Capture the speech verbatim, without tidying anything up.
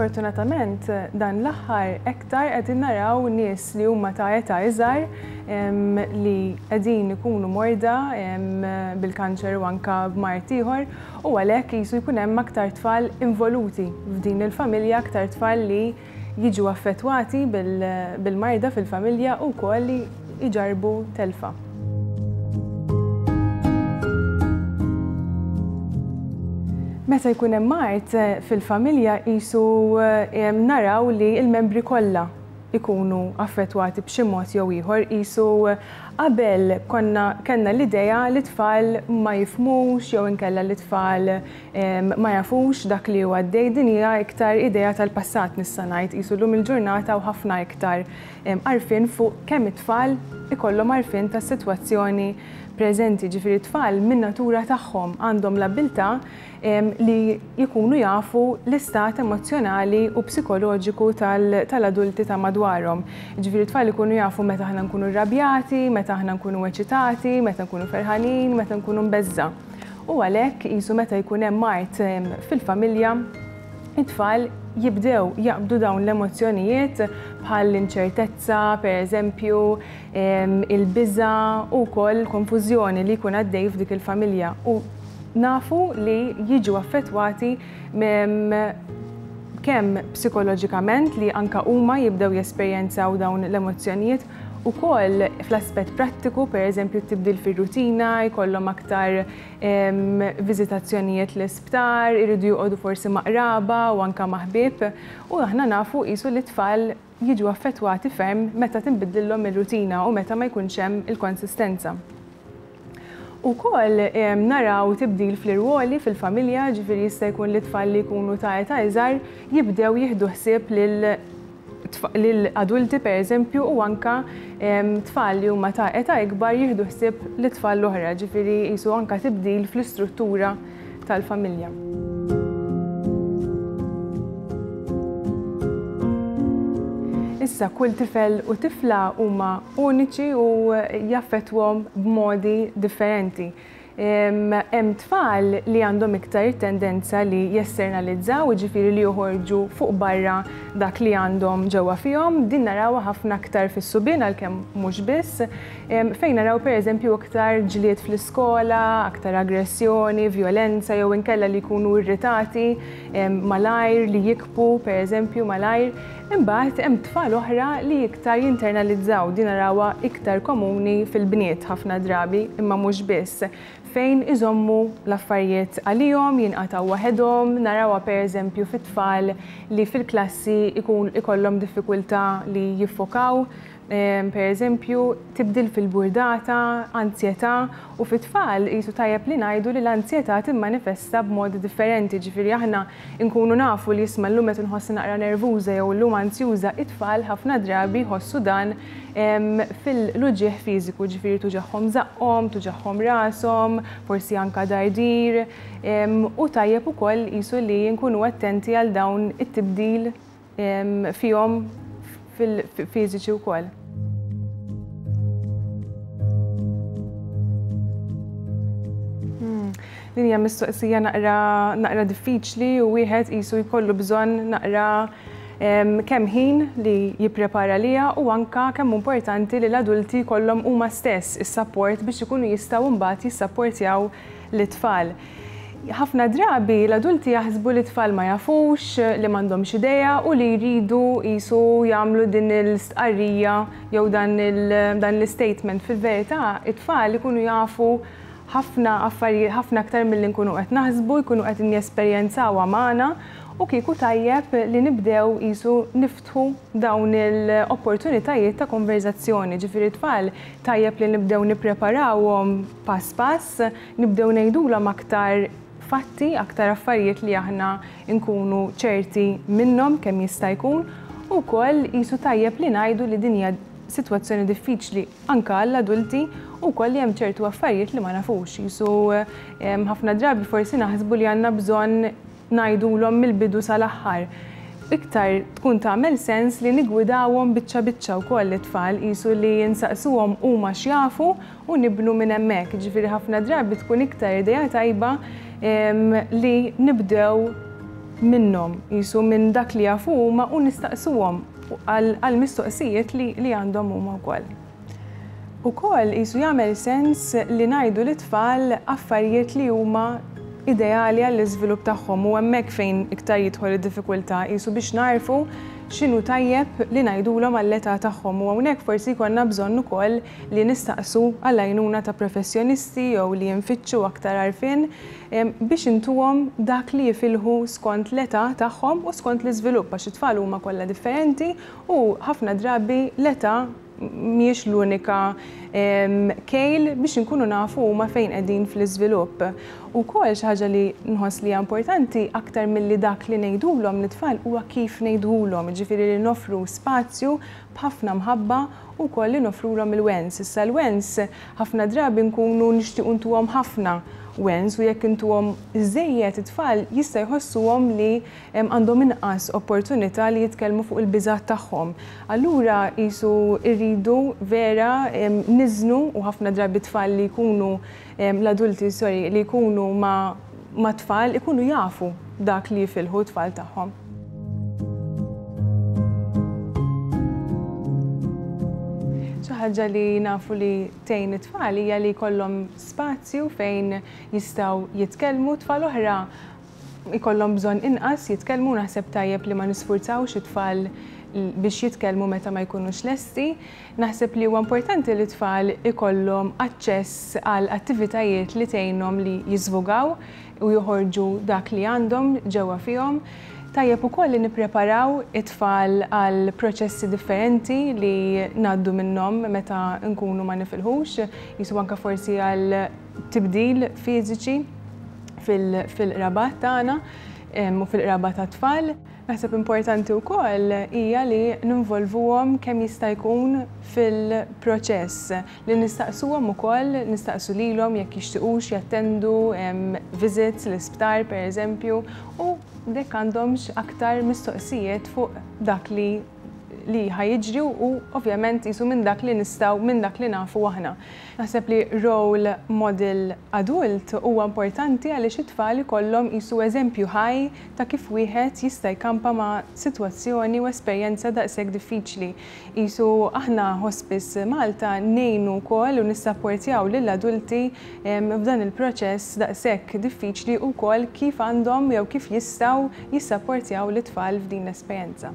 Sfortunatament, dan l-aħħar iktar qegħdin naraw nies li huma ta' età iżgħar li qegħdin ikunu morda bil-kanċer u anka b'mard ieħor, u għalhekk qisu jkun hemm aktar tfal involuti f'din il-familja, aktar tfal li jiġu affettwati bil-marda fil-familja u wkoll li jġarbu telfa. Meta jkun hemm mard fil-familja qisu naraw li l-membri kollha ikunu affettwati b'xi mod jew ieħor. Qisu qabel konna kellna l-idea li tfal ma jifhmux jew inkella li tfal ma jafux dak li huwa għaddej. Din hija iktar idea tal-passat nista' ngħid. Qisu llum il-ġurnata u ħafna iktar għarfien fuq kemm it-tfal ikollhom għarfien tas-sitwazzjoni preżenti. Ġifieri t-tfal min-natura tagħhom għandhom l-abilità li jkunu jafu l-istat emozjonali u psikoloġiku tal-adulti ta' madwarhom. Ġifieri t-tfal ikunu jafu meta aħna nkunu rrabjati, meta aħna nkunu eċitati, meta nkunu ferħanin, meta nkunu mbeżża. U għalhekk qisu meta jkun hemm mard fil-familja, it-tfal jibdew jaqbdu dawn l-emozzjonijiet bħal l-inċertezza, per eżempju, il-biża' u wkoll konfużjoni li jkun għaddej f'dik il-familja. U nafu li jiġu affettwati kemm psikoloġikament, li anka huma jibdew jesperjenzaw dawn l-emozzjonijiet, ukoll fl-aspett prattiku, per eżempju tibdil fir-rutina, jkollhom aktar viżitazzjonijiet l-isptar, iridu joqogħdu forsi ma' qraba u anka ma' ħbieb, u aħna nafu qisu li t-tfal jiġu affettwati ferm meta tinbidlilhom ir-rutina u meta ma jkunx hemm il-konsistenza. Ukoll naraw tibdil fl-irwoli fil-familja, ġifieri jista' jkun li tfal li jkunu ta' età iżgħar jibdew jieħdu ħsieb lil adulti per eżempju, u anka tfal li huma ta' età ikbar jieħdu ħsieb lit-tfal l-oħra, ġifieri qisu anka tibdil fl-istruttura tal-familja. Issa kull tifel u tifla huma uniċi u jaffettwhom b'modi differenti. Hemm tfal li għandhom iktar tendenza li jesternalizzaw, jiġifieri li joħorġu fuq barra dak li għandhom ġewwa fihom. Din narawha ħafna aktar fis-subien għalkemm mhux biss, fejn naraw pereżempju aktar ġlied fl-iskola, aktar aggressjoni, vjolenza jew inkella li jkunu irritati malajr, li jikbu pereżempju malajr. Imbagħad hemm tfal oħra li iktar jinternalizzaw, din narawha iktar komuni fil-bniet ħafna drabi, imma mhux biss, fejn iżommu l-affarijiet għalihom, jinqataw waħedhom. Narawha pereżempju fit-tfal li fil-klassi ikun ikollhom diffikultà li jiffokaw, pereżempju tibdil fil-burdata, anzjetà, u fit-tfal qisu tajjeb li ngħidu li l-anzjetà timmanifesta b'modi differenti. Ġifieri aħna nkunu nafu li isma' llum qed inħossni naqra nervuża jew llum anzjuża, it-tfal ħafna drabi jħossu dan fil-uġigħ fiżiku, ġifieri tuġagħhom żaqqhom, tuġagħhom rashom, forsi anka dardir, u tajjeb ukoll qisu li nkunu attenti għal dawn it-tibdil fihom fil-fiżiċi wkoll. Din hija mistoqsija naqra, naqra diffiċli u wieħed qisu jkollu bżonn naqra kemm ħin li jipprepara liha, u anka kemm importanti li l-adulti jkollhom huma stess is-sapport biex ikunu jistgħu mbagħad jissapportjaw lit-tfal. Ħafna drabi l-adulti jaħsbu li t-tfal ma jafux, li m'għandhomx idea u li jridu qisu jagħmlu din l-istqarrija jew dan l-statement. Fil-verità, it-tfal ikunu jafu ħafna affarijiet, ħafna aktar milli nkunu qed naħsbu, jkunu qed jesperjenzawha magħna, u kieku tajjeb li nibdew qisu niftħu dawn l-opportunitajiet ta' konverzazzjoni. Ġifieri t-tfal tajjeb li nibdew nippreparawhom pass pass, nibdew ngħidulhom aktar fatti, aktar affarijiet li aħna nkunu ċerti minnhom kemm jista' jkun, u wkoll qisu tajjeb li ngħidu li din hija sitwazzjoni diffiċli anka għall-adulti u wkoll li hemm ċertu affarijiet li ma nafux. Qisu ħafna drabi forsi naħsbu li għandna bżonn ngħidulhom mill-bidu sal-aħħar. Iktar tkun tagħmel sens li nigwidawhom biċċa biċċa wkoll it-tfal, qisu li nsaqsuhom huma x'jafu u nibnu minn hemmhekk. Ġifieri ħafna drabi tkun iktar idea tajba li nibdew minnhom, qisu minn dak li jafu huma u nistaqsuhom għal mistoqsijiet li, li għandhom huma wkoll. Ukoll qisu jagħmel sens li ngħidu lit-tfal affarijiet li huma ideali għall-iżvilupp tagħhom u hemmhekk fejn iktar jidħol id-diffikultà qisu biex narfu x'inhu tajjeb li ngħidulhom għall-età tagħhom u hawnhekk forsi jkollna bżonn ukoll li nistaqsu għall-għajnuna ta' professjonisti jew li nfittxu aktar għarfien biex intuhom dak li jifilħu skont l-età tagħhom u skont l-iżvilupp għax it-tfal huma kollha differenti u ħafna drabi l-età mhijiex l-unika kejl biex inkunu nafu huma fejn qegħdin fl-iżvilupp. Ukoll xi ħaġa li nħoss li hija importanti aktar milli dak li ngħidulhom lit-tfal huwa kif ngħidulhom, jiġifieri li nofru spazju b'ħafna mħabba u wkoll li nofrulhom il-wens. Issa l-wens ħafna drabi nkunu nixtiequ ntuhom ħafna wens u jekk intuhom iżejjed it-tfal jista' jħossuhom li għandhom inqas opportunità li jitkellmu fuq il-biżgħat tagħhom. Allura qisu rridu vera niżnu u ħafna drabi tfal li jkunu l-adulti sorry li jkunu ma' ma' tfal ikunu jafu dak li jifilħu t-tfal tagħhom. Xi ħaġa li nafu li tgħin it-tfal hija li jkollhom spazju fejn jistgħu jitkellmu. Tfal oħra jkollhom bżonn inqas jitkellmu, naħseb tajjeb li ma nisfurzawx it-tfal biex jitkellmu meta ma jkunux lesti. Naħseb li huwa importanti li t-tfal ikollhom aċċess għal attivitajiet li tgħinhom li jiżvugaw u joħorġu dak li għandhom ġewwa fihom. Tajjeb ukoll li nippreparaw it-tfal għal proċessi differenti li ngħaddu minnhom meta nkunu ma nifilħux, jisu anke forsi għal tibdil fiżiċi fil-qrabat tagħna u fil-qraba tat-tfal. Naħseb importanti wkoll hija li ninvolvuhom kemm jista' jkun fil-proċess, li nistaqsuhom ukoll, nistaqsu lilhom jekk jixtiequx jattendu visits l-isptar pereżempju u dek għandhomx aktar mistoqsijiet fuq dak li li ħajġri u ovvjament jisu minn dak li nistgħu, minn dak li nafu aħna. Naħseb li role model adult huwa importanti għaliex it-tfal ikollhom jisu eżempju ħaj ta' kif wieħed jista' jkampa ma' sitwazzjoni u esperjenza daqshekk diffiċli. Jisu aħna Hospice Malta ngħinu wkoll u nissapportjaw lill-adulti f'dan il-proċess daqshekk diffiċli wkoll kif għandhom jew kif jistgħu jissapportjaw lit-tfal f'din l-esperjenza.